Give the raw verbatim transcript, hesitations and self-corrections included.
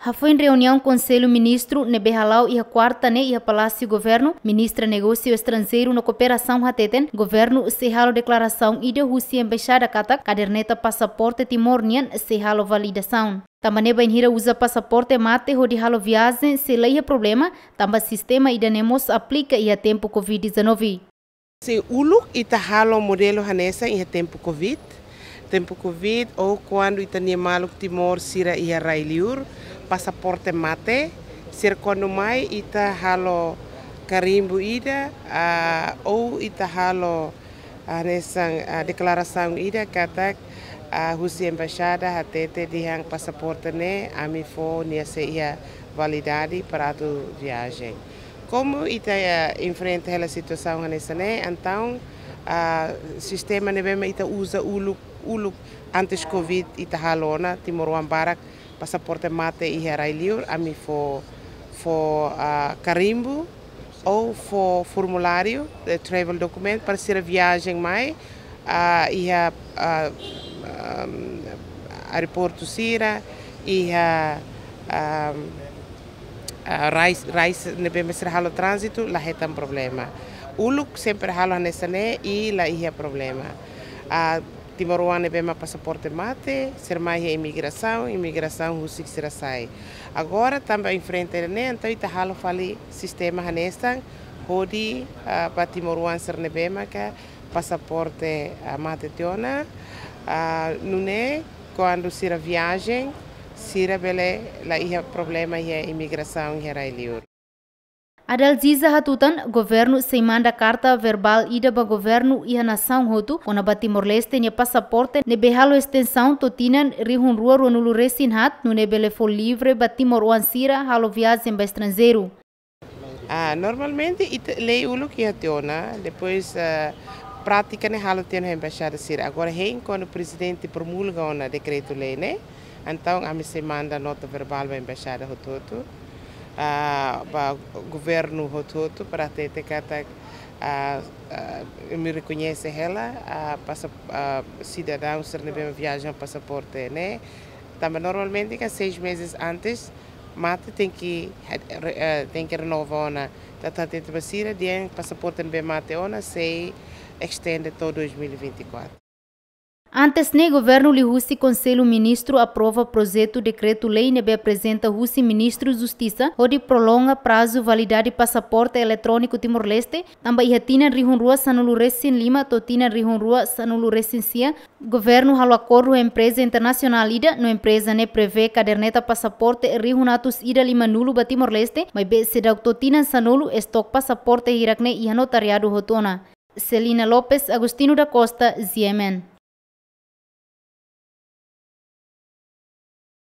Hafoin reuniaun Konsellu Ministru ne'ebé hala'o iha kuarta ne'e iha Palásiu Governu, Ministra Negósiu Estranjeiru no Kooperasaun hateten, Governu sei halo deklarasaun ida husi Embaixada katak kaderneta pasaporte Timor nian sei halo validasaun. Tanba ne'e bainhira uza pasaporte mate hodi halo viajen sei la iha problema, tanba sistema ida-ne'e mós aplika iha tempu covid dezanove. Sin, uluk ita halo modelu hanesan iha tempu covid. Tempu covid, ou kuandu ita-nia maluk Timor sira iha rai-liur, pasaporte mate, sira kuandu mai ita halo karimbu ida, ah, ou ita halo, ah, hanesan, ah, deklarasaun ida katak, ah, husi embaixada hatete dehan pasaporte ne'e ami fó nia sei iha validade para atu viajen. Komu ita, eh, enfrenta hela situasaun hanesan ne'e, entaun, ah, sistema ne'ebé mak ita uza uluk, uluk antes covid ita halo ona, timoroan barak pasaporte mate iha rai-liur, ami fó, fó, ah, karimbu, ou fó formuláriu de travel document para sira viajen mai, ah, iha, ah, ah, aeroportu sira, iha, ah, ah, rai, rai ne'ebé mak sira halo tránzitu, la hetan problema. Uluk sempre halo hanesan ne'e i la iha problema. Ah, timoroan ne'ebé mak pasaporte mate, sira mai iha imigrasaun, imigrasaun husik sira sai. Agora tanba enfrenta ne'e, entaun ita halo fali sistema hanesan, hodi, ah, ba timoroan sira ne'ebé maka pasaporte, ah, mate tiha ona, ah, nune'e kuandu sira viajen, sira bele la iha problema iha imigrasaun iha rai-liur. Adalziza hatutan, Governu sei manda karta verbál ida ba Governu iha nasaun hotu, kona-ba Timor-Leste nia pasaporte ne'ebé halo estensaun to'o tinan rihun rua ruanulu resin haat, nune'e bele fó livre ba timoroan sira halo viajen ba estranjeiru. Ah, normalmente ita lei uluk iha tiha ona, depois, ah, prátika ne'e halo tiha ona iha embaixada sira. Agora hein kuandu prezidente promulga ona dekretu-lei ne'e, entaun ami sei manda nota verbál ba embaixada hotu-hotu, ah, ba governu hotu-hotu para hatete katak, ah, ah, ami rekoñese hela, ah, pasa-, ah, sidadaun sira ne'ebé viajen pasaporte ne'e. Tanba normalmente kan seis meses antes mate tenke, eh, tenke renova ona. Entaun hatete ba sira dehan pasaporte ne'ebé mate ona sei estende to'o dois mil e vinte e quatro. Antes ne'e, Governu liuhusi Konsellu Ministru aprova projetu dekretu-lei ne'ebé aprezenta husi Ministru Justisa hodi prolonga prazu validade pasaporte eletróniku Timor-Leste, tanba iha tinan rihun rua sanulu resin lima to'o tinan rihun rua sanulu resin sia, Governu halo akordu ho empreza internasionál ida, no empreza ne'e prevee kaderneta pasaporte rihun atus ida limanulu ba Timor-Leste, maibé seidauk to'o tinan sanulu, estok pasaporte hirak-ne'e iha notariadu hotu ona. Celina Lopes, Agostinho da Costa, G M N.